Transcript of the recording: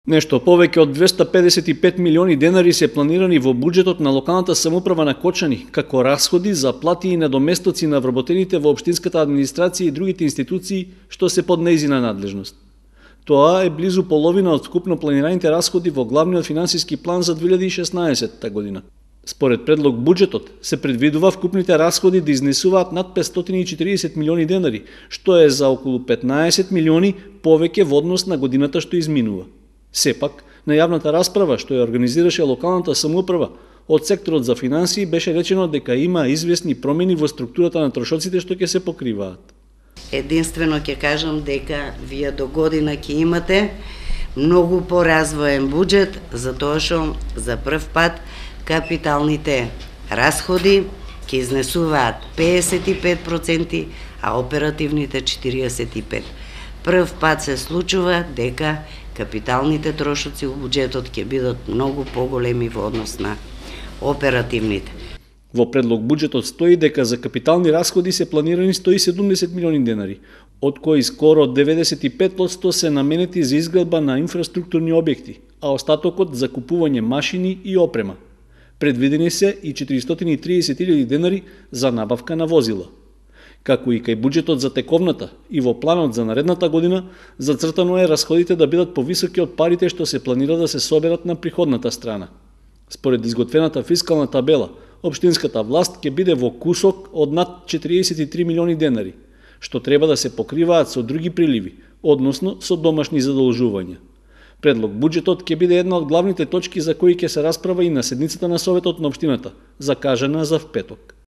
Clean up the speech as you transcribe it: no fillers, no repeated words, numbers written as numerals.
Нешто повеќе од 255 милиони денари се планирани во буџетот на локалната самоуправа на Кочани, како расходи за плати и надоместоци на вработените во општинската администрација и другите институции што се под нејзина надлежност. Тоа е близу половина од вкупно планираните расходи во главниот финансиски план за 2016 година. Според предлог буџетот се предвидува вкупните расходи да изнесуваат над 540 милиони денари, што е за околу 15 милиони повеќе во однос на годината што изминува. Сепак, на јавната расправа што ја организираше локалната самоуправа, од секторот за финансии беше речено дека има известни промени во структурата на трошоците што ќе се покриваат. Единствено ќе кажам дека вие до година ќе имате многу поразвоен буџет, затоа што за прв пат капиталните расходи ќе изнесуваат 55%, а оперативните 45%. Прв пат се случува дека капиталните трошоци во буџетот ќе бидат многу поголеми во однос на оперативните. Во предлог буџетот стои дека за капитални расходи се планирани 170 милиони денари, од кои скоро 95% се наменети за изградба на инфраструктурни објекти, а остатокот за купување машини и опрема. Предвидени се и 430.000 денари за набавка на возила. Како и кај буџетот за тековната и во планот за наредната година, зацртано е расходите да бидат повисоки од парите што се планира да се соберат на приходната страна. Според изготвената фискална табела, општинската власт ќе биде во кусок од над 43 милиони денари, што треба да се покриваат со други приливи, односно со домашни задолжувања. Предлог буџетот ќе биде една од главните точки за кои ќе се расправа и на седницата на Советот на општината, закажана за впеток.